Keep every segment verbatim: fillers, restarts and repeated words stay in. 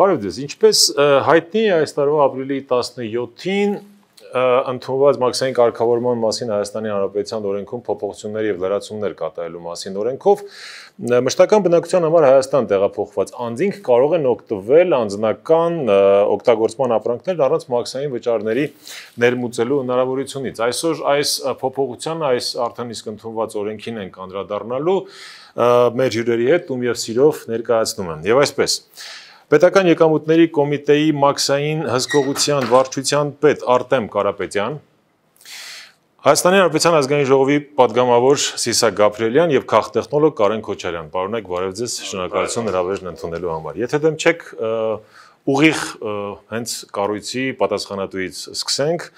Բարև ձեզ, ինչպես հայտնի է այս տարվա ապրիլի տասնյոթին ընդունված մաքսային կարգավորման մասին Հայաստանի Հանրապետության օրենքում փոփոխություններ եւ լրացումներ կատարելու մասին օրենքով մշտական բնակության համար Հայաստան տեղափոխված անձինք կարող են օգտվել անձնական օգտագործման ապրանքներ առանց մաքսային վճարների ներմուծելու հնարավորությունից։ Այսօր այս փոփոխությանը այս արդեն իսկ ընդունված օրենքին են անդրադառնալու մեր հյուրերի հետ ում եւ սիրով ներկայացնում են։ Եվ այսպես Պետական եկամուտների կոմիտեի մաքսային հսկողության վարչության պետ Արտեմ Կարապետյան, Հայաստանի Հանրապետության ազգային ժողովի պատգամավոր Սիսակ Գաբրիելյան եւ քաղտեխնոլոգ Կարեն Քոչարյան։ Պարոնեք, բարև ձեզ, շնորհակալություն հրավերն ընդունելու համար։ Եթե դեմ չեք, ուղիղ հենց կառույցի պատասխանատուից սկսենք։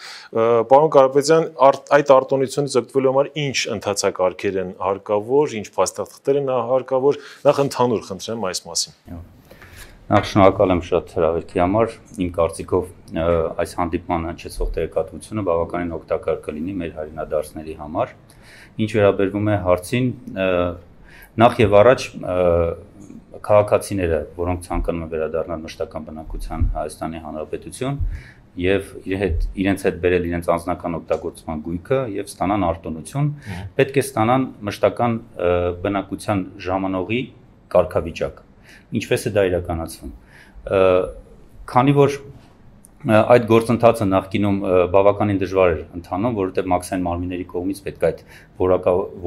Պարոն Կարապետյան, այդ արտոնությունից օգտվելու համար ինչ ընթացակարգեր են հարկավոր, ինչ փաստաթղթեր են հարկավոր, նախ ընդհանուր խնդրեմ այս մասին։ Նախ շնորհակալ եմ շատ հրավերքի համար, իմ կարծիքով այս հանդիպման հնչեցող տեղեկատվությունը բավականին օգտակար կլինի մեր հայրենադարձների համար։ Ինչ վերաբերվում է հարցին, նախ եւ առաջ քաղաքացիները, որոնք ցանկանում են վերադառնալ մշտական բնակության Հայաստանի Հանրապետություն եւ իրենց հետ բերել իրենց անձնական օգտագործման գույքը եւ ստանան արտոնություն, պետք է ստանան մշտական բնակության ժամանողի կարգավիճակ։ Ինչպես է դա իրականացվում։ Քանի որ այդ գործընթացը նախկինում բավականին դժվար էր ընթանում, որովհետև մաքսային մարմինների կողմից պետք է այդ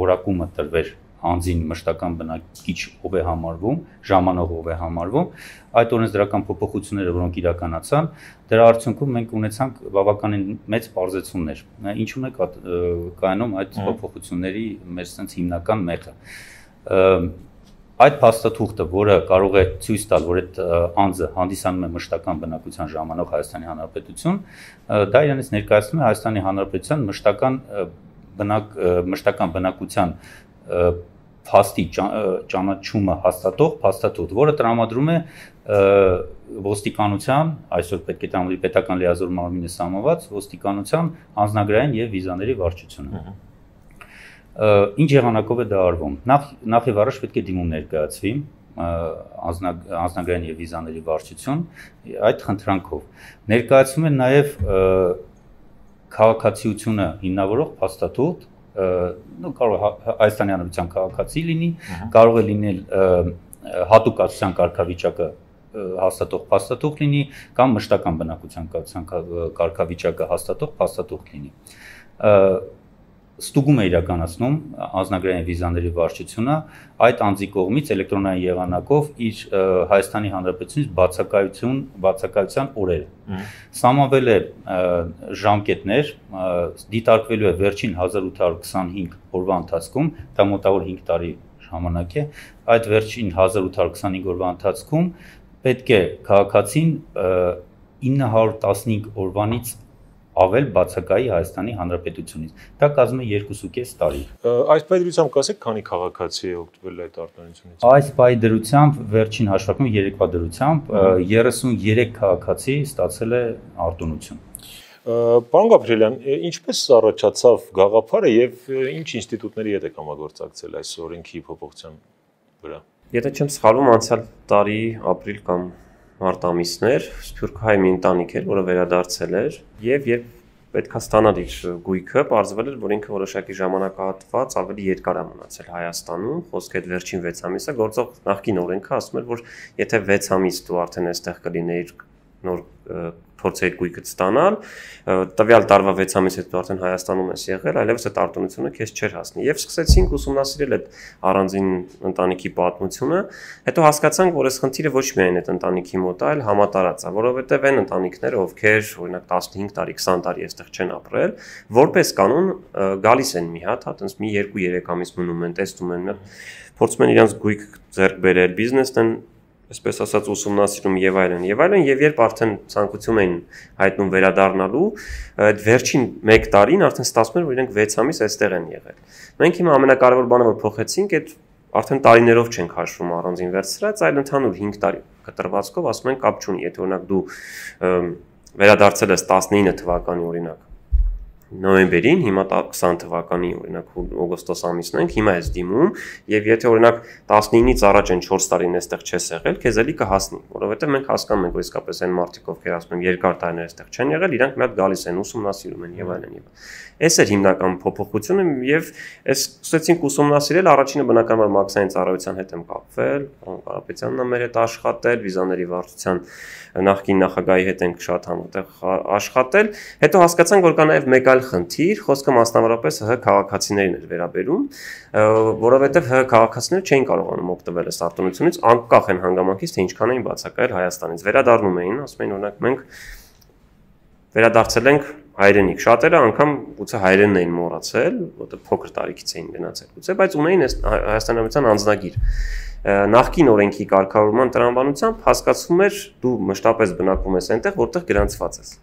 որակումը տրվեր անձին մշտական բնակիչ ով է համարվում, ժամանող ով է համարվում, այդ օրենսդրական փոփոխությունները, որոնք իրականացան, դրա արդյունքում մենք ունեցանք բավականին մեծ պարզեցումներ։ Ինչու՞ն է կայանում այդ փոփոխությունների մեր sense հիմնական մեղը։ Այդ փաստաթուղթը, որը կարող է ցույց տալ, որ այդ անձը հանդիսանում է մշտական բնակության ժամանող Հայաստանի Հանրապետություն, դա իրենից ներկայացնում է Հայաստանի Հանրապետության մշտական բնակ մշտական բնակության փաստի ճանաչումը հաստատող փաստաթուղթ, որը տրամադրում է ոստիկանության, այսօր պետք է տրամադրի պետական լիազոր մարմինը սահմանված ոստիկանության անձնագրային եւ վիզաների վարչությունը։ Ինչ եղանակով է դա արվում։ Նախ եւ առաջ պետք է դիմում ներկայացվի անձնագրային եւ վիզաների վարչություն այդ խնդրանքով։ Ներկայացվում է նաեւ քաղաքացիությունը հիմնավորող փաստաթուղթ, նո կարող է Հայաստանի Հանրապետության քաղաքացի լինի, կարող է լինել հատուկացության կարգավիճակը հաստատող փաստաթուղթ լինի կամ մշտական բնակության կարգավիճակը հաստատող փաստաթուղթ լինի։ Ստուգում է իրականացնում անձնագրային վիզաների վարչությունը այդ անձի կողմից էլեկտրոնային եղանակով իր Հայաստանի Հանրապետությունից բացակայություն, բացակայության օրերը։ Սահմանվել է ժամկետներ, դիտարկվելու է վերջին հազար ութ հարյուր քսանհինգ օրվա ընթացքում, դա մոտավոր հինգ տարի ժամանակ է, այդ վերջին հազար ութ հարյուր քսանհինգ օրվա ընթացքում պետք է քաղաքացին ինը հարյուր տասնհինգ օրվանից ավել բացակայի Հայաստանի Հանրապետությունից։ Դա կազմում է երկուսուկես տարի։ Այս պայդրությամբ կասեք, քանի քաղաքացի է օգտվել այդ արտոնությունից։ Այս պայդրությամբ վերջին հաշվարկում երեկվա դրությամբ երեսուներեք քաղաքացի ստացել է արտոնություն։ Պարոն Գաբրիելյան, ինչպես առաջացավ գաղափարը եւ ինչ ինստիտուտների հետ եք համագործակցել այս օրենքի փոփոխության վրա։ Եթե չեմ սխալվում, անցյալ տարի ապրիլ կամ մարտ ամիսներ սփյուռքահայ մի ընտանիք էր, որը վերադարձել էր եւ երբ պետքա ստանալ իր գույքը, պարզվել էր, որ ինքը որոշակի ժամանակահատված ավելի երկար է մնացել Հայաստանում, խոսքը այդ վերջին վեց ամիսը գործող նախկին օրենքը ասում էր, որ եթե վեց ամիս դու արդեն այստեղ կլինեիր նոր փորձեր գույքդ ստանալ, տվյալ տարվա վեց ամիս հետո արդեն Հայաստանում ես եղել, այլևս այդ արտոնությունը քեզ չէր հասնի։ Եվ սկսեցինք ուսումնասիրել այդ առանձին ընտանիքի պատմությունը, հետո հասկացանք, որ այս խնդիրը ոչ միայն այդ ընտանիքի մոտ է, այլ համատարած է, որովհետև այն ընտանիքները, ովքեր օրինակ տասնհինգ տարի, քսան տարի այստեղ չեն ապրել, որպես կանոն գալիս են մի հատ, հա, տենց մի երկու-երեք ամիս մնում են, տեսնում են, փորձում են իրենց գույք ձեռք բերել, բիզնեսն են այսպես ասած ուսումնասիրում եւ այլն եւ այլն եւ երբ արդեն ցանկություն էին հայտնում վերադառնալու այդ վերջին մեկ տարին արդեն ստացվում էր որ իրենք վեց ամիս այստեղ են եղել մենք հիմա ամենակարևոր բանը որ փոխեցինք այդ արդեն տարիներով չենք հաշվում առանձին վերցրած այլ ընդհանուր հինգ տարի կտրվածքով ասում են կապ չունի եթե օրինակ դու վերադարձել ես տասնինը թվականի օրինակ նոյեմբերին, հիմա քսան թվականի օրինակ օգոստոս ամիսն ենք, հիմա ես դիմում եւ եթե օրինակ տասնինից առաջ են չորս տարին այստեղ չես եղել, քեզ էլի կհասնի, որովհետեւ մենք հասկանում ենք, որ իսկապես այն մարդիկ, ովքեր ասում են երկար տարիներ այստեղ չեն եղել, իրանք մի հատ գալիս են, ուսումնասիրում են եւ այլն եւ Այս էր հիմնական փոփոխությունը եւ այս սկսեցինք ուսումնասիրել առաջինը բնականաբար մաքսային ծառայության հետ եմ կապվել, պարոն Կարապետյանն է մեր հետ աշխատել, վիզաների վարչության նախկին նախագահի հետ ենք շատ համատեղ աշխատել, հետո հասկացանք, որ կա նաեւ մեկ այլ խնդիր, խոսքը մասնավորապես ՀՀ քաղաքացիներին էր վերաբերում, որովհետեւ ՀՀ քաղաքացիները չէին կարողանում օգտվել այս արտոնությունից, անկախ են հանգամանքից, թե ինչքան էին բացակայել Հայաստանից, վերադառնում էին, ասում էին օրինակ մենք վերադարձել ենք հայրենիք, շատերը անգամ գուցե հայրենն էին մոռացել, որտեղ փոքր տարիքից էին գնացել, գուցե, բայց ունեին հայաստանյան անձնագիր։ Նախկին օրենքի կարգավորման տրամաբանությամբ հասկացվում էր դու մշտապես բնակվում ես այնտեղ, որտեղ գրանցված ես։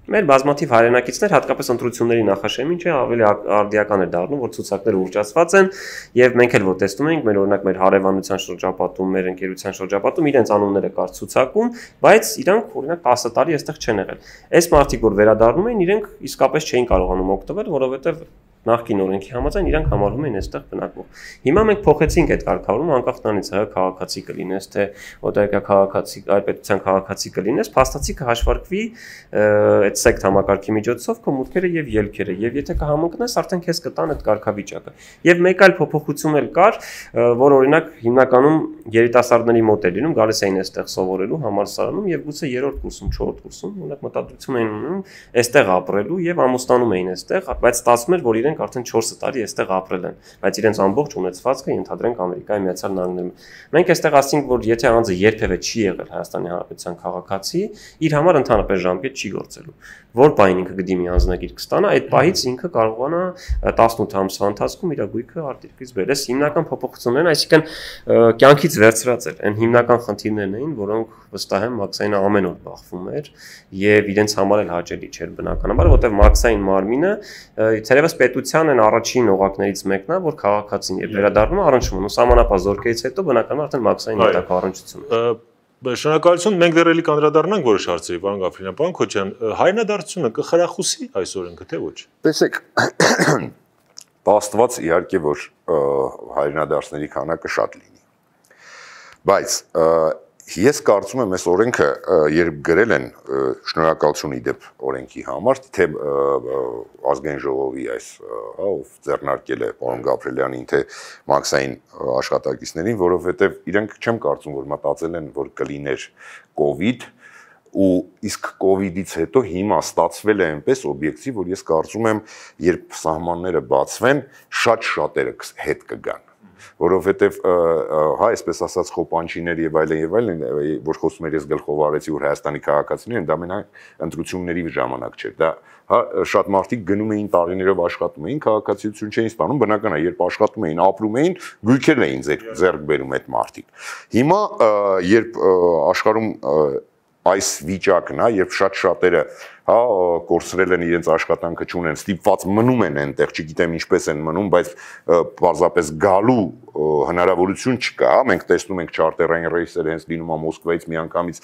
Մեր բազմաթիվ հայրենակիցներ հատկապես ընտրությունների նախաշեմին չէ, ավելի արդիական է դառնում, որ ցուցակները ուռճացված են եւ մենք էլ որ տեսնում ենք, մեր օրինակ մեր հարևանության շրջապատում, մեր ընկերության շրջապատում իրենց անունները կար ցուցակում, բայց իրանք օրինակ տասը տարի այստեղ չեն եղել։ Այս մարդիկ որ վերադառնում են, իրենք իսկապես չէին կարողանում օգտվել, որովհետեւ նախկին օրենքի համաձայն իրանք համարվում են այստեղ բնակվող։ Հիմա մենք փոխեցինք այդ կարգավորումը, անկախ նրանից ՀՀ քաղաքացի կլինես, թե օտարերկրյա քաղաքացի, այլ պետության քաղաքացի կլինես, փաստացի կհաշվարկվի այդ սեկտ համակարգի միջոցով քո մուտքերը եւ ելքերը, եւ եթե կհամընկնես, արդեն քեզ կտան այդ կարգավիճակը։ Եվ մեկ այլ փոփոխություն էլ կար, որ օրինակ հիմնականում երիտասարդների մոտ էր լինում, գալիս էին այստեղ սովորելու համալսարանում եւ գուցե երրորդ կուրսում, չորրորդ կուրսում, օրինակ մտադրություն էին ունում այստեղ ապրելու եւ ամուսնանում էին այստեղ, բայց ստացվում էր, որ իրենք արդեն չորս տարի այստեղ ապրել են, բայց իրենց ամբողջ ունեցվածքը ենթադրենք Ամերիկայի Միացյալ Նահանգներում։ Մենք այստեղ ասենք, որ եթե անձը երբևէ չի եղել Հայաստանի Հանրապետության քաղաքացի, իր համար ընդհանրապես ժամկետ չի գործելու։ Որ պահին ինքը գդիմի անձնագիր կստանա, այդ պահից ինքը կարողանա տասնութ ամսվա ընթացքում իր գույքը արտերկրից բերել։ Այս հիմնական փոփոխություններն, այսինքն կյանքից վերցրած էր, այն հիմնական խնդիրներն էին, որոնք վստահ եմ Մաքսային ամեն օր բախվում էր եւ իրենց համար էլ հաճելի չէր բնականաբար, որտեղ Մաքսային մարմինը ցերևս պետության են առաջին օղակներից մեկն է, որ քաղաքացին եւ վերադառնում առնչվում ու սահմանապահ զորքերից հետո բնականաբար արդեն Մաքսային հետագա առնչությունը։ Շնորհակալություն, մենք դեռ էլի կանդրադառնանք որոշ հարցերի, պարոն Գաֆրինյան, պարոն Քոչյան, հայրենադարձությունը կխրախուսի այս օրենքը, թե ոչ։ Տեսեք, Աստված իհարկե որ հայրենադարձների քանակը շատ լինի։ Բայց ես կարծում եմ այս օրենքը երբ գրել են շնորհակալություն իդեպ օրենքի համար, թե ազգային ժողովի այս ով ձեռնարկել է պարոն Գաբրելյանին, թե Մաքսային աշխատակիցներին, որովհետև իրենք չեմ կարծում, որ մտածել են, որ կլիներ կովիդ ու իսկ կովիդից հետո հիմա ստացվել է այնպես օբյեկտիվ, որ ես կարծում եմ, երբ սահմանները բացվեն, շատ շատերը հետ կգան, որովհետև հա այսպես ասած խոպանչիներ եւ այլն եւ այլն, որ խոսում էր ես գլխով արեցի, որ Հայաստանի քաղաքացիներն դա մենակ ընտրությունների ժամանակ չէր, դա հա շատ մարդիկ գնում էին տարիներով աշխատում էին, քաղաքացիություն չէին ստանում, բնական է, երբ աշխատում էին, ապրում էին, գույքեր էին ձեռք բերում այդ մարդիկ։ Հիմա երբ աշխարհում այս վիճակն է, երբ շատ շատերը հա կորցրել են իրենց աշխատանքը չունեն, ստիպված մնում են այնտեղ, չգիտեմ ինչպես են մնում, բայց պարզապես գալու հնարավորություն չկա, մենք տեսնում ենք չարտերային ռեյսերը հենց լինում է Մոսկվայից միանգամից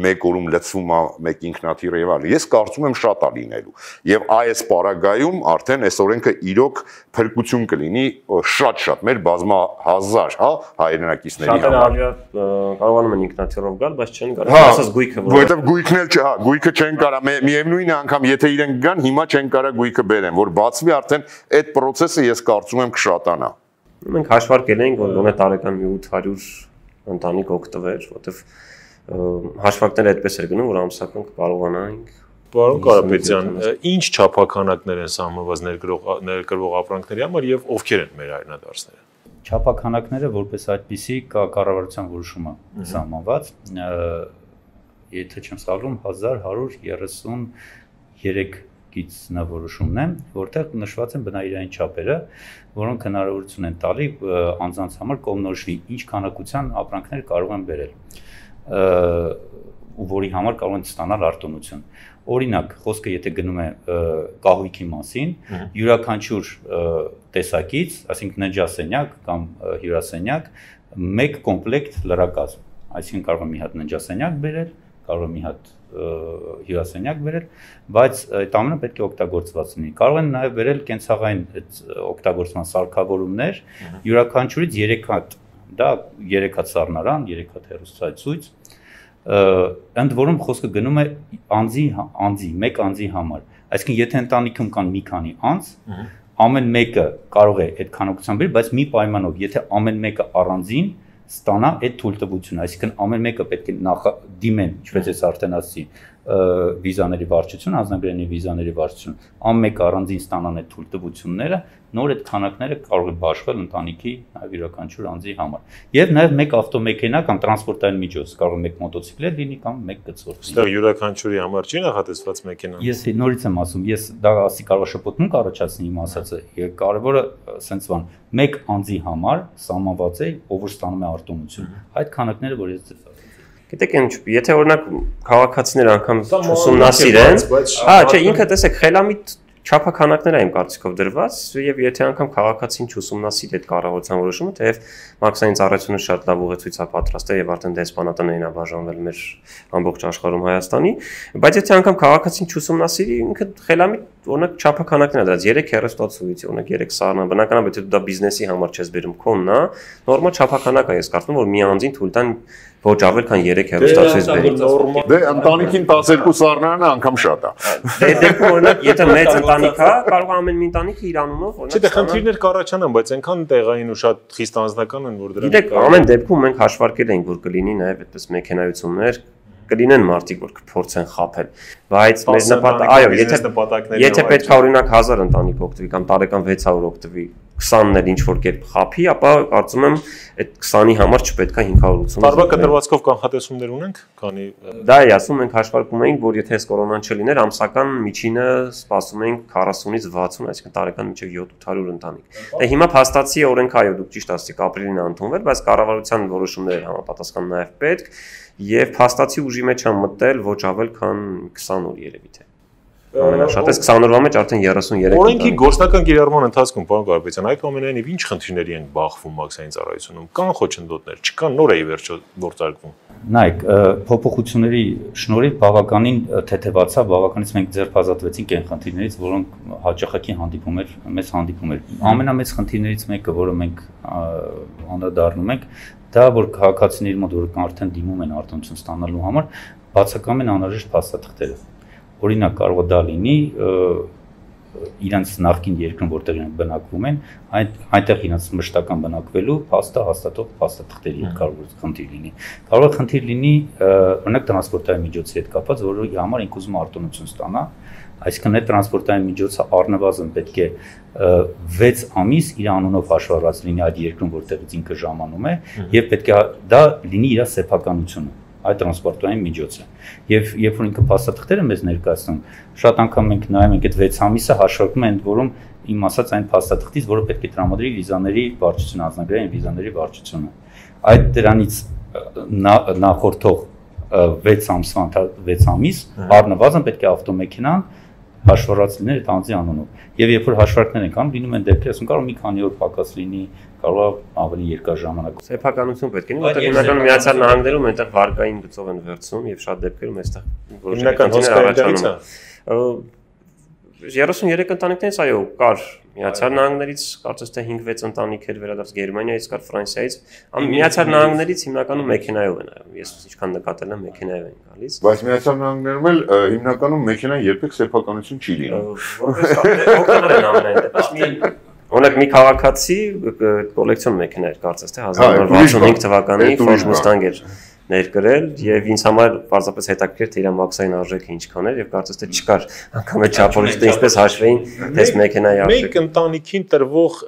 մեկ օրում լցվում է մեկ ինքնաթիռ եւ այլն։ Ես կարծում եմ շատ է լինելու։ Եվ այս պարագայում արդեն այս օրենքը իրոք փրկություն կլինի շատ-շատ մեր բազմահազար, հա, հայրենակիցների համար։ Շատերը կարողանում են ինքնաթիռով գալ, բայց չեն կարող ասած գույքը, որովհետեւ գույքն էլ չէ, հա, գույքը չեն կարա, միևնույն է անգամ եթե իրենք գան, հիմա չեն կարա գույքը բերեն, որ բացվի արդեն այդ process-ը ես կարծում եմ կշատանա։ Մենք հաշվարկել ենք, որ գոնե տարեկան մի ութ հարյուր ընտանիք օգտվեր, որտեվ հաշվարկները այդպես էր գնում, որ ամսական կարողանանք։ Պարոն Կարապետյան, ինչ չափականակներ են սահմանված ներկրվող ապրանքների համար եւ ովքեր են մեր հայրենադարձները։ Չափականակները որպես այդպիսի կա կառավարության որոշումը սահմանված, եթե չեմ սխալվում հազար հարյուր երեսուներեք գիծնավորոշումն է, որտեղ նշված են բնայրային չափերը, որոնք հնարավորություն են տալի անձանց համար կողմնորոշվի ինչ քանակության ապրանքներ կարող են բերել, ու որի համար կարող են ստանալ արտոնություն։ Օրինակ, խոսքը եթե գնում է կահույքի մասին, յուրաքանչյուր տեսակից, այսինքն ննջասենյակ կամ հյուրասենյակ, մեկ կոմպլեկտ լրակազմ, այսինքն կարող է մի հատ ննջասենյակ բերել, կարող է մի հատ հյուրասենյակ բերել, բայց այդ ամենը պետք է օգտագործված լինի։ Կարող են նաև բերել կենցաղային այդ օգտագործման սարքավորումներ, յուրաքանչյուրից երեք հատ, դա երեք հատ սառնարան, երեք հատ հեռուստացույց, ընդ որում խոսքը գնում է անձի, անձի, մեկ անձի համար։ Այսինքն եթե ընտանիքում կան մի քանի անձ, ամեն մեկը կարող է այդ քանակությամբ բերել, բայց մի պայմանով, եթե ամեն մեկը առանձին ստանա այդ թույլտվությունը, այսինքն ամեն մեկը պետք է նախ դիմեն, ինչպես ես արդեն ասացի, վիզաների վարչություն, անձնագրերի վիզաների վարչություն, ամեն առանձին ստանան այդ թույլտվությունները, նոր այդ քանակները կարող է բաշխվել ընտանիքի նաև յուրաքանչյուր անձի համար։ Եվ նաև մեկ ավտոմեքենա կամ տրանսպորտային միջոց, կարող է մեկ մոտոցիկլետ լինի կամ մեկ գծորդ։ Այստեղ յուրաքանչյուրի համար չի նախատեսված մեքենան։ Ես նորից եմ ասում, ես դա ասի կարող շփոթում կառաջացնի իմ ասածը, կարևորը սենց բան, մեկ անձի համար սահմանված է, ով որ ստանում է արտոնություն։ Այդ քանակները, որ ես ձեզ Գիտեք ինչ, եթե օրինակ քաղաքացիներ անգամ ուսումնասիրեն, հա, չէ, ինքը տեսեք, խելամիտ չափաքանակներ է իմ կարծիքով դրված, եւ եթե անգամ քաղաքացին չուսումնասիրի այդ կառավարության որոշումը, թեև մաքսային ծառայությունը շատ լավ ուղեցույց է պատրաստել եւ արդեն դեսպանատներին է բաժանվել մեր ամբողջ աշխարհում Հայաստանի, բայց եթե անգամ քաղաքացին չուսումնասիրի, ինքը խելամիտ օրինակ չափաքանակներ է դրած երեք հեռուստացույց, օրինակ երեք սառնան, բնականաբար եթե դու դա բիզնեսի համար չես բերում քոնն է, նորմալ չափականակ է, ես կարծում եմ, որ մի անձին թույլ տան ոչ ավել քան երեք հեռուստացույց բերի։ Դե ընտանիքին տասներկու սառնարանը անգամ շատ է։ Դե դեպքում օրինակ եթե մեծ ընտանիք է, կարող է ամեն մի ընտանիքը իր անունով օրինակ։ Չէ, դե խնդիրներ կառաջանան, բայց այնքան տեղային ու շատ խիստ անձնական են, որ դրանք Գիտեք, ամեն դեպքում մենք հաշվարկել ենք, որ կլինի նաև այդպես մեքենայություններ, կլինեն մարդիկ, որ կփորձեն խաբել, բայց մեր նպատակը, այո, եթե եթե պետք է օրինակ հազար ընտանիք օգտվի կամ տարեկան վեց հարյուր օգտվի, քսանն էլ ինչ որ կերպ խափի, ապա կարծում եմ այդ քսանի համար չպետք է հինգ հարյուր ութ։ Տարվա կտրվածքով կանխատեսումներ ունենք, քանի Դա է ասում ենք հաշվարկում էինք, որ եթե այս կորոնան չլիներ, ամսական միջինը սպասում էինք քառասունից վաթսուն, այսինքն տարեկան մինչև յոթ ութ հարյուր ընտանիք։ Դե հիմա փաստացի օրենք այո, դուք ճիշտ ասացիք, ապրիլին է ընդունվել, բայց կառավարության որոշումները համապատասխան նաև պետք եւ փաստացի ուժի մեջ են մտել ոչ ավել քան քսան օր երևի թե։ Ամենաշատս քսան օրվա մեջ արդեն երեսուններեք Օրենքի գործնական կիրառման ընթացքում, պարոն Կարապետյան, այդուամենայնիվ ինչ խնդիրների են բախվում մաքսային ծառայությունում, կան խոչընդոտներ, չկան, նոր է ի վերջո գործարկվում։ Նայեք, փոփոխությունների շնորհիվ բավականին թեթևացավ, բավականից մենք ձեռբազատվեցինք այն խնդիրներից, որոնք հաճախակի հանդիպում էր, մեծ հանդիպում էր։ Ամենամեծ խնդիրներից մեկը, որը մենք անդրադառնում ենք, դա որ քաղաքացիների մոտ որ արդեն դիմում են արտոնություն ստանալու համար, բացակայում են անհրաժեշտ փաստաթղթերը։ Օրինակ կարող է դա լինի իրենց նախկին երկրում, որտեղ իրենք բնակվում են, այդ այնտեղ իրենց մշտական բնակվելու փաստը հաստատող փաստաթղթերի հետ կարող է խնդիր լինի։ Կարող է խնդիր լինի օրինակ տրանսպորտային միջոցի հետ կապված, որի համար ինք ուզում արտոնություն ստանա, այսինքն այդ տրանսպորտային միջոցը առնվազն պետք է վեց ամիս իր անունով հաշվառված լինի այդ երկրում, որտեղից ինքը ժամանում է, եւ պետք է դա լինի իր սեփականությունը այդ տրանսպորտային միջոցը։ Եվ երբ որ ինքը փաստաթղթերը մեզ ներկայացնում, շատ անգամ մենք նայում ենք այդ վեց ամիսը հաշվարկում են, որում իմ ասած այն փաստաթղթից, որը պետք է տրամադրի վիզաների վարչությունը, անձնագրային վիզաների վարչությունը։ Այդ դրանից նախորդող վեց ամսվա վեց ամիս առնվազն պետք է ավտոմեքենան հաշվառած լիներ այդ անձի անունով։ Եվ երբ որ հաշվարկներ են կանում, լինում են դեպքեր, ասում կարող մի քանի օր պակաս լինի, կարող է ավելի երկար ժամանակ։ Սեփականություն պետք է լինի, որտեղ հիմնականում Միացյալ Նահանգներում այնտեղ վարկային գծով են վերցնում եւ շատ դեպքերում այստեղ հիմնական հոսքերից է։ երեսուններեք ընտանիքներից այո կար Միացյալ Նահանգներից կարծես թե հինգ վեց ընտանիք էր վերադարձ Գերմանիայից կար Ֆրանսիայից Միացյալ Նահանգներից հիմնականում մեքենայով են այո ես ինչքան նկատել եմ մեքենայով են գալիս բայց Միացյալ Նահանգներում էլ հիմնականում մեքենան երբեք սեփականություն չի լինում օգտվել են ամենայն դեպքում Օրինակ մի քաղաքացի կոլեկցիոն մեքենա էր կարծես թե հազար նորը վաթսունհինգ թվականի Ford Mustang էր ներկրել եւ ինձ համար պարզապես հետաքրքիր թե իր մաքսային արժեքը ինչքան էր եւ կարծես թե չկար անգամ այդ չափորոշիչը ինչպես հաշվեին դες մեքենայի արժեքը մեկ ընտանիքին տրվող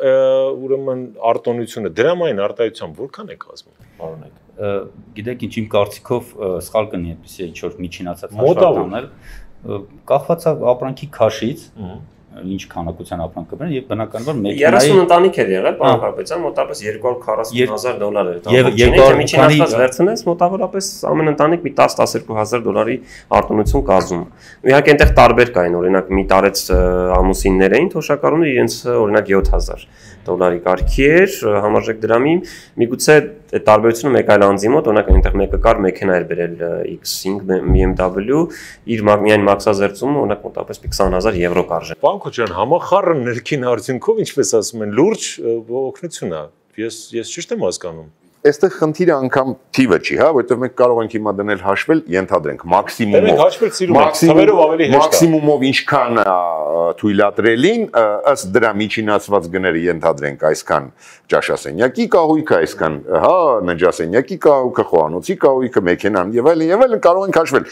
ուրեմն արտոնությունը դրամային արտահայտությամբ որքան է կազմում պարոնեք գիտեք ինչ իմ կարծիքով սխալ կնի այդպեսի ինչ որ միջինացած հաշվարկներ կախված է ապրանքի քաշից ինչ քանակության ապրանք կբերեն եւ բնականաբար մեքենայի երեսուն ընտանիք էր եղել պարոն Կարապետյան մոտավորապես երկու հարյուր քառասուն հազար դոլար էր դա եւ միջինացած վերցնես մոտավորապես ամեն ընտանիք մի տասը տասներկու հազար դոլարի արտոնություն կազմում իհարկե այնտեղ տարբեր կային օրինակ մի տարեց ամուսիններ էին թոշակառուները իրենց օրինակ յոթ հազար դոլարի կարգի էր համարժեք դրամի միգուցե այդ տարբերությունը մեկ այլ անձի մոտ, օրինակ այնտեղ մեկը կար մեքենա էր բերել X cinq B M W, իր միայն մաքսազերծումը օրինակ մոտավորապես քսան հազար եվրո կարժե։ Պարոն Քոչարյան, համախառն ներքին արդյունքով, ինչպես ասում են, լուրջ օգնություն է։ Ես ես ճիշտ եմ հասկանում։ Այստեղ խնդիրը անգամ թիվը չի, հա, որովհետև մենք կարող ենք հիմա դնել հաշվել, ենթադրենք մաքսիմումով։ Մենք հաշվել սիրում ենք, թվերով ավելի հեշտ է։ Մաքսիմումով ինչքան թույլատրելին, ըստ դրա միջինացված գները ենթադրենք այսքան ճաշասենյակի կահույքը, այսքան, հա, նջասենյակի կահույքը, խոհանոցի կահույքը, մեքենան եւ այլն եւ այլն կարող ենք հաշվել։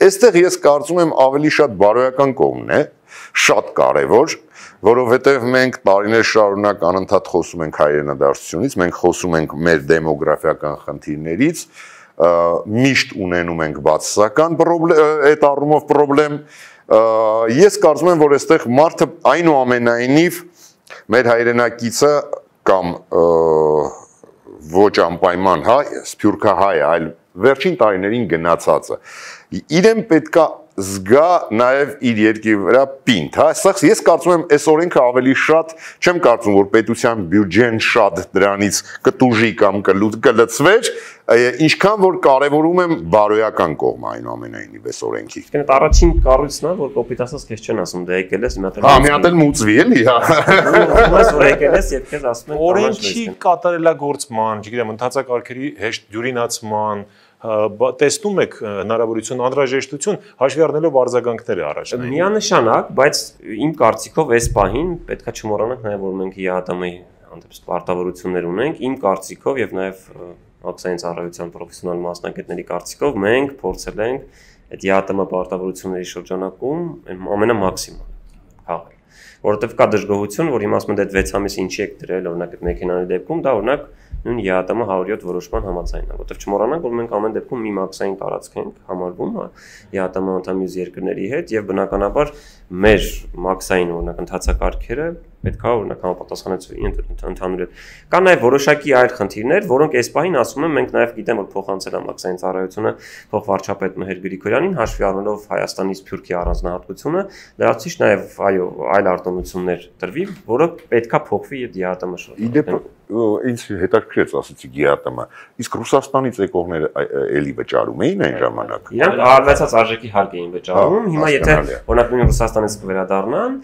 Այստեղ ես կարծում եմ ավելի շատ բարոյական կողմն է, շատ կարևոր, որովհետև մենք տարիներ շարունակ անընդհատ խոսում ենք հայրենադարձությունից, մենք խոսում ենք մեր դեմոգրաֆիական խնդիրներից, միշտ ունենում ենք բացասական այդ առումով պրոբլեմ։ Ես կարծում եմ, որ այստեղ մարդը այնուամենայնիվ մեր հայրենակիցը կամ ոչ անպայման հայ, սփյուռքահայ, այլ վերջին տարիներին գնացածը իրեն պետքա զգա նաև իր երկրի վրա պինդ, հա, սա ես կարծում եմ այս օրենքը ավելի շատ չեմ կարծում, որ պետության բյուջեն շատ դրանից կտուժի կամ կլծվեր, ինչքան որ կարևորում եմ բարոյական կողմը այնուամենայնիվ այս օրենքի։ Այդ առաջին կառույցն է, որ կոպիտ ասած քեզ չեն ասում, դե եկել ես մի հատ։ Հա, մի հատ էլ մուծվի էլի, հա։ Ոնց որ եկել ես, եւ քեզ ասում են օրենքի կատարելագործման, չգիտեմ, ընդհանրակարգերի հեշտ դյուրինացման տեսնում եք հնարավորություն անհրաժեշտություն հաշվի առնելով արձագանքները առաջնային։ Միանշանակ, բայց իմ կարծիքով այս պահին պետքա չմոռանանք նաև որ մենք ՀԱՏՄ-ի հանդեպ պարտավորություններ ունենք, իմ կարծիքով եւ նաև մաքսային ծառայության պրոֆեսիոնալ մասնագետների կարծիքով մենք փորձել ենք այդ ՀԱՏՄ պարտավորությունների շրջանակում ամենամաքսիմումը քաղել։ Որովհետեւ կա դժգոհություն, որ հիմա ասում են այդ վեց ամիս ինչի եք դրել, օրինակ այդ մեքենայի դեպքում, դա օրինակ նույն ՀԱՏՄ հարյուր յոթ որոշման համաձայնն է, որովհետև չմոռանանք, որ մենք ամեն դեպքում մի մաքսային տարածք ենք համարվում, ՀԱՏՄ անդամ մյուս երկրների հետ եւ բնականաբար մեր մաքսային օրինակ ընթացակարգերը պետք է օրինակ համապատասխանեցվի ընդհանուր հետ։ Կա նաեւ որոշակի այլ խնդիրներ, որոնք այս պահին ասում եմ մենք նաեւ գիտեմ որ փոխանցել է մաքսային ծառայությունը փոխվարչապետ Մհեր Գրիգորյանին հաշվի առնելով Հայաստանի Սփյուռքի առանձնահատկությունը, դրանցից նաեւ այո այլ արտոնություններ տրվի, որը պետքա փոխվի այդ ՀԱՏՄ շրջանում։ Ինձ հետաքրքրեց ասեցիք ՀԱՏՄ, իսկ Ռուսաստանից եկողները էլի վճարում էին այն ժամանակ։ Իրանք արվեցած արժեքի հարկ էին վճարում, հիմա եթե օրինակ նույն Ռուսաստանից կվերադառնան,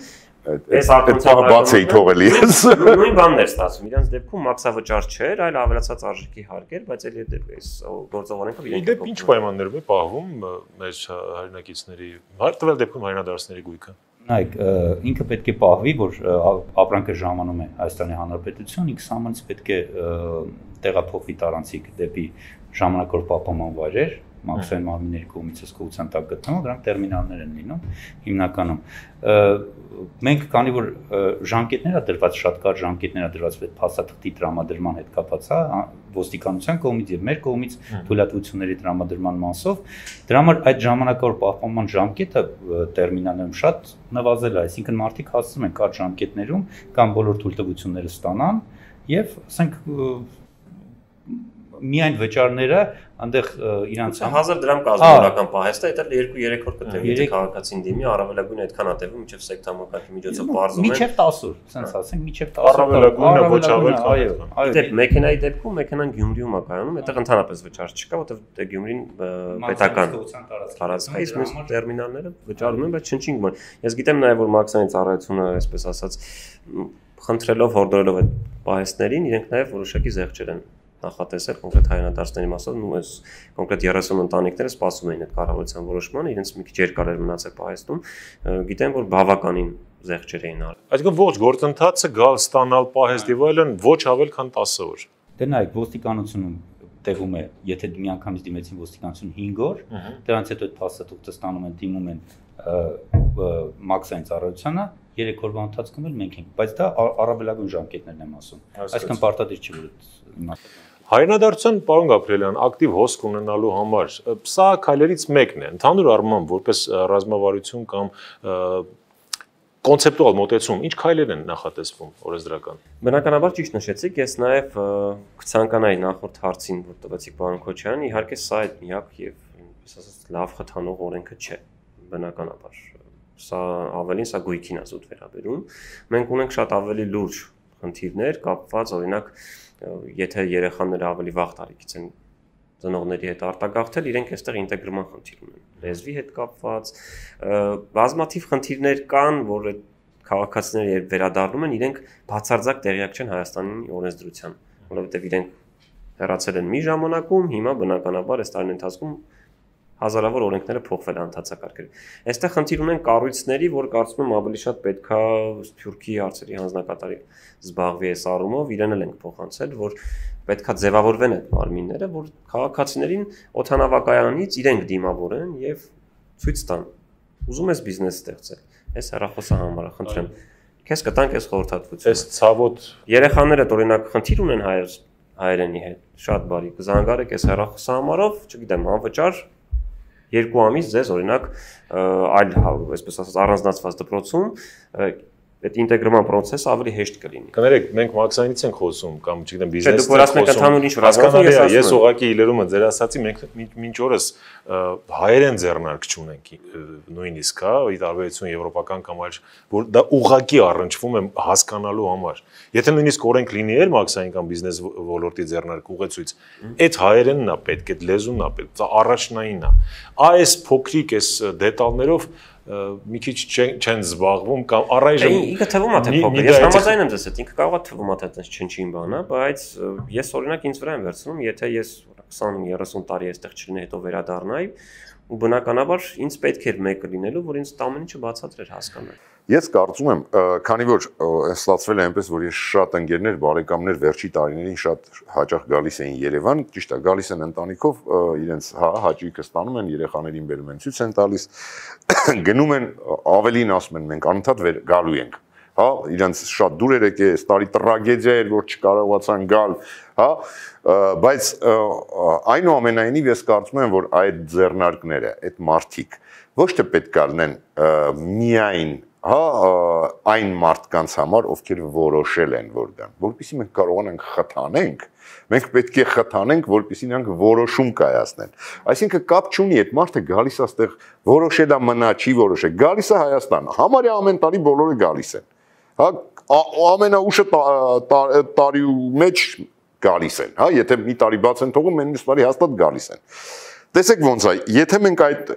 այս արտոնությունը բաց էի թողել ես։ Նույն բանն էր ստացվում, իրանց դեպքում մաքսավճար չէր, այլ ավելացած արժեքի հարկ էր, բայց էլի այս գործողանքով իրենք դեպ ինչ պայմաններով է պահվում մեր հայրենակիցների, հարթվել դեպքում հայրենադարձների գույքը։ Նայեք, ինքը պետք է պահվի, որ ապրանքը ժամանում է Հայաստանի Հանրապետություն, ինքը սահմանից պետք է տեղափոխվի տարանցիկ դեպի ժամանակավոր պահպանման վայրեր, մաքսային մարմինների կողմից հսկողության տակ գտնվում, դրանք տերմինալներ են լինում հիմնականում։ Մենք քանի որ ժամկետներ է դրված, շատ կարճ ժամկետներ է դրված այդ փաստաթղթի տրամադրման հետ կապված, ոստիկանության կողմից եւ մեր կողմից թույլատվությունների տրամադրման մասով, դրա համար այդ ժամանակավոր պահպանման ժամկետը տերմինալներում շատ նվազել է, այսինքն մարդիկ հասցնում են կարճ ժամկետներում կամ բոլոր թույլտվությունները ստանան եւ ասենք միայն վճարները այնտեղ իրանց հազար դրամ կազմողական պահեստը, դա երկու երեք օր կտևի քաղաքացին դիմի, առավելագույն այդքան է տևում, մինչև սեկտամակարգի միջոցով բարձում են։ Մինչև տասը օր, ասենց ասենք, մինչև տասը օր։ Առավելագույնը ոչ ավել այո, այո։ Դե մեքենայի դեպքում մեքենան Գյումրիում է կայանում, այդտեղ ընդհանրապես վճար չկա, որովհետև դե Գյումրին պետական տարածք է, իսկ մյուս տերմինալները վճարում են, բայց չնչին բան։ Ես գիտեմ նաև որ մաքսային ծառայությունը, այսպես ասած, խնդրելով հորդորելով այդ պահեստներին, իրենք նաև որոշակի զեղչեր են նախատեսել կոնկրետ հայրենադարձների մասով, ու այս կոնկրետ երեսուն ընտանիքները սպասում էին այդ կառավարության որոշմանը, իրենց մի քիչ երկար էր մնացել պահեստում, գիտեմ որ բավականին զեղչեր էին արել։ Այսինքն ողջ գործընթացը գալ ստանալ պահեստ եւ այլն ոչ ավել քան տասը օր։ Դե նայեք, ոստիկանությունում տևում է, եթե միանգամից դիմեցին ոստիկանություն հինգ օր, դրանից հետո այդ փաստաթուղթը ստանում են, դիմում են մաքսային ծառայությանը, երեք օրվա ընթացքում էլ մենք ենք, բայց դա առավելագույն ժամկետներն եմ ասում։ Այսինքն պարտադիր չի որ իմաստը։ Հայրենադարձության պարոն Գաբրիելյան ակտիվ հոսք ունենալու համար սա քայլերից մեկն է, ընդհանուր առմամբ որպես ռազմավարություն կամ կոնցեպտուալ մոտեցում, ինչ քայլեր են նախատեսվում օրենսդրական։ Բնականաբար ճիշտ նշեցիք, ես նաև կցանկանայի նախորդ հարցին, որ տվեցիք պարոն Քոչարյան, իհարկե սա այդ միակ եւ այսպես ասած լավ խթանող օրենքը չէ, բնականաբար։ Սա ավելին սա գույքին է զուտ վերաբերում։ Մենք ունենք շատ ավելի լուրջ խնդիրներ կապված օրինակ եթե երեխաները ավելի վաղ տարիքից են ծնողների հետ արտագաղթել, իրենք այստեղ ինտեգրման խնդիր ունեն։ Լեզվի հետ կապված բազմաթիվ խնդիրներ կան, որ այդ քաղաքացիները երբ վերադառնում են, իրենք բացարձակ տեղյակ չեն Հայաստանի օրենսդրության, որովհետև իրենք հեռացել են մի ժամանակում, հիմա բնականաբար այս տարին ընթացքում հազարավոր օրենքները փոխվել են հանցակարգերը։ Այստեղ խնդիր ունեն կառույցների, որ կարծում եմ ավելի շատ պետքա Սփյուռքի հարցերի հանձնակատարի զբաղվի այս առումով, իրեն էլ ենք փոխանցել, որ պետքա ձևավորվեն այդ մարմինները, որ քաղաքացիներին օդանավակայանից իրենք դիմավորեն եւ ցույց տան։ Ուզում ես բիզնես ստեղծել, այս հեռախոսը համարա, խնդրեմ։ Քեզ կտանք այս խորհրդատվությունը։ Այս ցավոտ երեխաները օրինակ խնդիր ունեն հայեր հայերենի հետ, շատ բարի, կզանգարեք այս հեռախոսը համարով, չգիտեմ, անվճար երկու ամիս ձեզ օրինակ այլ, այսպես ասած, առանձնացված դպրոցում այդ ինտեգրման process-ը ավելի հեշտ կլինի։ Կներեք, մենք մաքսայինից ենք խոսում կամ չգիտեմ բիզնեսից ենք խոսում։ Հասկանալի է, ես ուղղակի իլերումը ձեր ասացի, մենք մինչ օրս հայերեն ձեռնարկ չունենք նույնիսկ, հա, ի տարբերություն եվրոպական կամ այլ, որ դա ուղղակի առնչվում է հասկանալու համար։ Եթե նույնիսկ օրենք լինի էլ մաքսային կամ բիզնես ոլորտի ձեռնարկ ուղեցույց, այդ հայերենն է պետք, այդ լեզուն է պետք, դա առաջնայինն է։ Այս փոքրիկ այս դետալներով մի քիչ չեն զբաղվում կամ առայժմ ինքը թվում է թե փոքր։ Ես համաձայն եմ ձեզ հետ, ինքը կարող է թվում է թե այդպես չնչին բան է, բայց ես օրինակ ինձ վրա եմ վերցնում, եթե ես քսան երեսուն տարի այստեղ չլինեի, հետո վերադառնայի, ու բնականաբար ինձ պետք էր մեկը լինելու, որ ինձ ամեն ինչը բացատրեր հասկանալ։ Ես կարծում եմ, քանի որ ստացվել է այնպես, որ ես շատ ընկերներ, բարեկամներ վերջի տարիներին շատ հաճախ գալիս էին Երևան, ճիշտ է, գալիս են ընտանիքով, իրենց հաճույքը ստանում են, երեխաներին բերում են, ցույց են տալիս, գնում են, ավելին ասում են, մենք անընդհատ գալու ենք, հա, իրենց շատ դուր էր եկել, այս տարի տրագեդիա էր, որ չկարողացան գալ, հա, բայց այնուամենայնիվ ես կարծում եմ, որ այդ ձեռնարկները, այդ մարդիկ ոչ թե պետք է լինեն միայն հա այն մարդկանց համար, ովքեր որոշել են, որ դան, որպեսզի մենք կարողանանք խթանենք, մենք պետք է խթանենք, որպեսզի նրանք որոշում կայացնեն։ Այսինքն կապ չունի, այդ մարդը գալիս է այստեղ որոշել է մնա, չի որոշել, գալիս է Հայաստան, համարյա ամեն տարի բոլորը գալիս են։ Հա, ամենաուշը տարի մեջ գալիս են, հա, եթե մի տարի բաց են թողում, մյուս տարի հաստատ գալիս են։ Տեսեք ոնց է, եթե մենք այդ,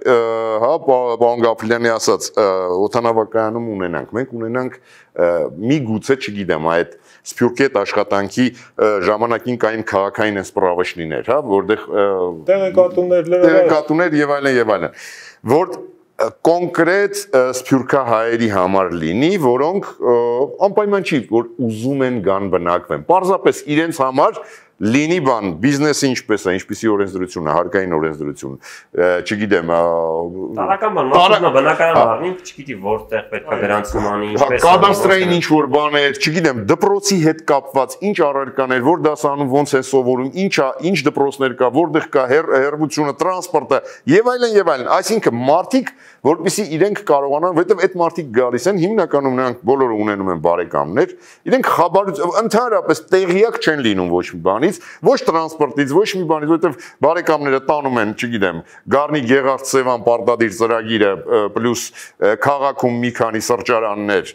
հա, պարոն Գաֆիլյանի ասած, օդանավակայանում ունենանք, մենք ունենանք մի գուցե, չգիտեմ, այդ Սփյուռքի հետ աշխատանքի ժամանակին կային քաղաքային սպառավաշնիներ, հա, որտեղ տեղեկատուներ, տեղեկատուներ եւ այլն եւ այլն, որ կոնկրետ սփյուռքահայերի համար լինի, որոնք անպայման չի, որ ուզում են գան բնակվեն, պարզապես իրենց համար լինի բան, բիզնեսը ինչպես է, ինչպիսի օրենսդրություն է, հարկային օրենսդրություն, չգիտեմ, տարական բան, մասնա բնակարան առնի, չգիտի որտեղ պետք է գրանցում անի, ինչպես կադաստրային ինչ-որ բաներ, չգիտեմ, դպրոցի հետ կապված ինչ առարկաներ, որ դասանում ոնց է սովորում, ինչա, ինչ դպրոցներ կա, որտեղ կա հեռվությունը, տրանսպորտը եւ այլն եւ այլն, այսինքն մարդիկ, որպեսզի իրենք կարողանան, որովհետեւ այդ մարդիկ գալիս են, հիմնականում նրանք բոլորը ունենում են բարեկամներ, իրենք խաբարություն, ընդհանրապես տեղյակ չեն լինում ոչ մի բանի ոչ տրանսպորտից, ոչ մի բանից, որովհետև բարեկամները տանում են, չգիտեմ, Գառնի Գեղարդ-Սևան պարտադիր ծրագիրը պլյուս քաղաքում մի քանի սրճարաններ,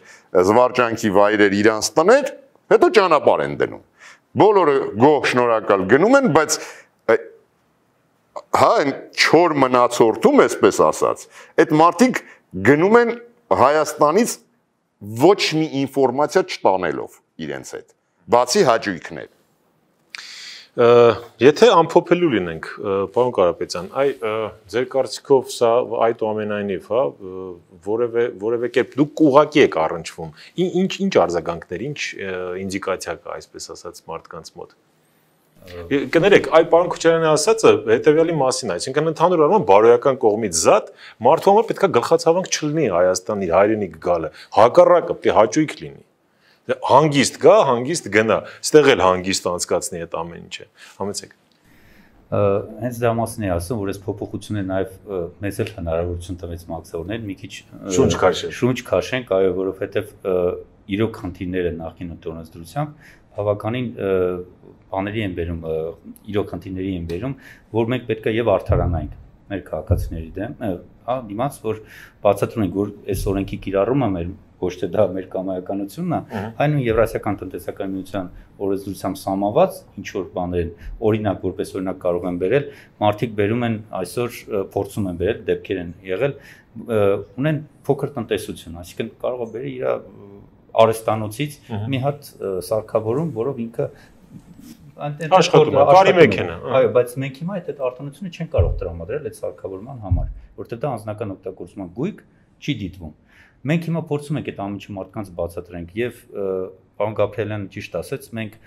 զվարճանքի վայրեր իրանց տներ, հետո ճանապարհ են դնում։ Բոլորը գոհ շնորհակալ գնում են, բայց հա այն չոր մնացորդում, այսպես ասած, այդ մարդիկ գնում են Հայաստանից ոչ մի ինֆորմացիա չտանելով իրենց հետ, բացի հաճույքներ։ Եթե ամփոփելու լինենք, պարոն Կարապետյան, այ ձեր կարծիքով սա այդուամենայնիվ, հա, որևէ որևէ կերպ դուք ուղղակի եք առնչվում։ Ինչ ինչ արձագանքներ, ինչ ինդիկացիա կա, այսպես ասած, մարդկանց մոտ։ Կներեք, այ պարոն Քոչարյանի ասածը հետեւյալի մասին է, այսինքն ընդհանուր առմամբ բարոյական կողմից զատ մարդու համար պետք է գլխացավանք չլինի Հայաստանի հայրենիք գալը, հակառակը պետք է հաճույք լինի։ Հանգիստ գա, հանգիստ գնա, ստեղ էլ հանգիստ անցկացնի այդ ամեն ինչը։ Համեցեք։ Հենց դա մասին է ասում, որ այս փոփոխությունը նաև մեզ էլ հնարավորություն տվեց մաքսավորներ մի քիչ շունչ քաշել։ Շունչ քաշենք, այո, որովհետև իրոք խնդիրները նախին օրենսդրությամբ բավականին բաների են բերում, իրոք խնդիրների են բերում, որ մենք պետք է եւ արդարանանք մեր քաղաքացիների դեմ, հա, դիմաց, որ բացատրում ենք, որ այս օրենքի կիրառումը մեր ոչ թե դա մեր կամայականությունն է, այն ու Եվրասիական տնտեսական միության օրենսդրությամբ սահմանված ինչ որ բաներ, օրինակ որպես օրինակ կարող են բերել, մարդիկ բերում են այսօր փորձում են բերել, դեպքեր են եղել, ունեն փոքր տնտեսություն, այսինքն կարող է բերել իր արհեստանոցից մի հատ սարքավորում, որով ինքը աշխատում է, բարի մեքենա։ Այո, բայց մենք հիմա այդ արտոնությունը չեն կարող տրամադրել այդ սարքավորման համար, որտեղ դա անձնական օգտագործման գույք չի դիտվում։ Մենք հիմա փորձում ենք այդ ամիջը մարդկանց բացատրենք եւ պարոն Գաբրիելյանը ճիշտ ասեց, մենք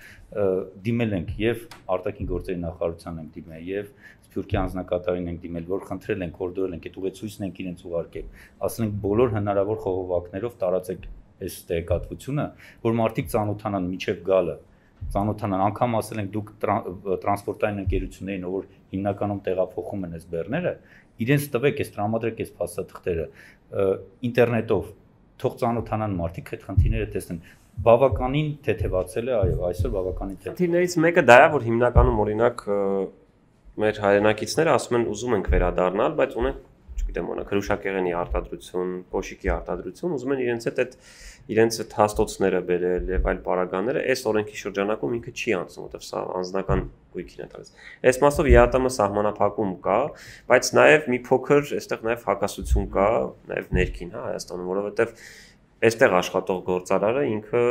դիմել ենք եւ արտաքին գործերի նախարարության ենք դիմել եւ Սփյուռքի անձնակատարին ենք դիմել, որ խնդրել ենք, հորդորել ենք, այդ ուղեցույցն ենք իրենց ուղարկել, ասել ենք բոլոր հնարավոր խողովակներով տարածեք այս տեղեկատվությունը, որ մարդիկ ծանոթանան միջև գալը, ծանոթանան, անգամ ասել ենք դուք տրանսպորտային ընկերություններին, որ հիմնականում տեղափոխում են այս բեռները, իրենց տվեք, այս տրամադրեք այս փաստաթղթերը ինտերնետով, թող ծանոթանան մարդիկ այդ խնդիրները տեսնեն։ Բավականին թեթևացել է, այո, այսօր բավականին թեթև։ Խնդիրներից մեկը դա է, որ հիմնականում օրինակ մեր հայրենակիցները ասում են ուզում ենք վերադառնալ, բայց ունեն, չգիտեմ, օրինակ հրուշակեղենի արտադրություն, կոշիկի արտադրություն, ուզում են իրենց հետ այդ իրենց այդ հաստոցները բերել եւ այլ պարագաները, այս օրենքի շրջանակում ինքը չի անցնում, որովհետեւ սա անձնական գույքին է տալիս։ Այս մասով ԵԱՏՄ սահմանափակում կա, բայց նաեւ մի փոքր այստեղ նաեւ հակասություն կա, նաեւ ներքին, հա, Հայաստանում, որովհետեւ այստեղ աշխատող գործարարը ինքը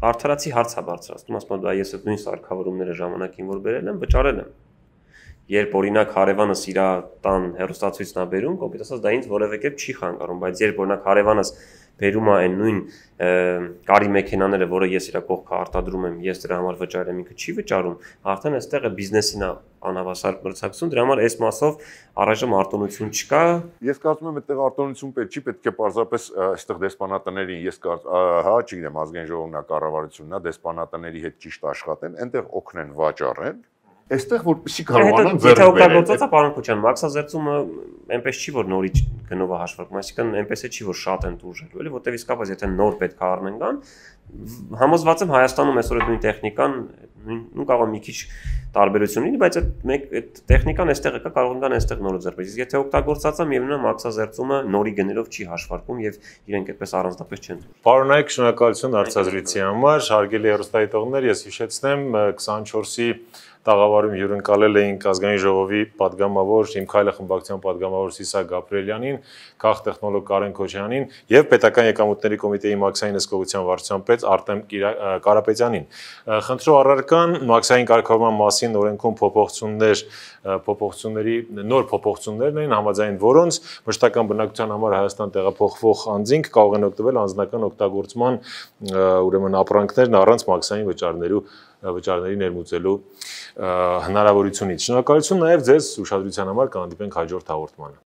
արդարացի հարց է բարձրացնում, ասում եմ, ես այդ նույն սարքավորումները ժամանակին որ բերել եմ, վճարել եմ։ Երբ օրինակ հարևանս իր տան հեռուստացույցն է բերում, կոպիտ ասած դա ինձ որևէ կերպ չի խանգարում, բայց երբ օրինակ հարևանս բերում է այն նույն կարի մեքենաները, որը ես իր կողքը արտադրում եմ, ես դրա համար վճարել եմ, ինքը չի վճարում, արդեն այստեղ է բիզնեսին է անհավասար մրցակցություն, դրա համար այս մասով առայժմ արտոնություն չկա։ Ես կարծում եմ այդտեղ արտոնություն պետք չի, պետք է պարզապես այստեղ դեսպանատներին, ես կարծում, հա, չգիտեմ, ազգային ժողովն է, կառավարությունն է, դեսպանատների հետ ճիշտ աշխատեն, այնտեղ օգնեն վաճառեն։ Այստեղ որպեսզի կարողանան ձեռք բերել։ Եթե օգտագործած է պարոն Քոչյան, մաքսազերծումը այնպես չի որ նորից գնով է հաշվարկում, այսինքն այնպես է չի որ շատ են դուրժելու, էլի, որտեվ իսկապես եթե նոր պետք է առնեն կան, համոզված եմ Հայաստանում այսօր այդ նույն տեխնիկան նույն կարող է մի քիչ տարբերություն լինի, բայց այդ մեկ այդ տեխնիկան այստեղ կա, կարող են կան այստեղ նորը ձեռք բերել։ Իսկ եթե օգտագործած է, միևնույն է մաքսազերծումը նորի գներով չի հաշվարկում եւ իրենք այդպես առանձնապես չեն դուրս։ Պարոնայք, շնորհակալություն հարցազրույցի համար, հարգելի հեռուստադիտողներ, ես հիշեցնեմ քսանչորսի տաղավարում հյուրընկալել էինք ազգային ժողովի падգամավոր Իմ քայլը խմբակցության падգամավոր Սիսա Գաբրիելյանին, քաղ տեխնոլոգ Կարեն Քոչյանին եւ պետական եկամուտների կոմիտեի մաքսային հսկողության վարչության պետ Արտեմ Կարապետյանին։ Խնդրու առարկան մաքսային կարգավորման մասին օրենքում փոփոխություններ, փոփոխությունների նոր փոփոխություններն են, համաձայն որոնց մշտական բնակության համար Հայաստան տեղափոխվող անձինք կարող են օգտվել անձնական օգտագործման ուրեմն ապրանքներն առանց մաքսային վճարներու վճարների ներմուծելու հնարավորությունից։ Շնորհակալություն նաև ձեզ ուշադրության համար, կհանդիպենք հաջորդ հաղորդմանը։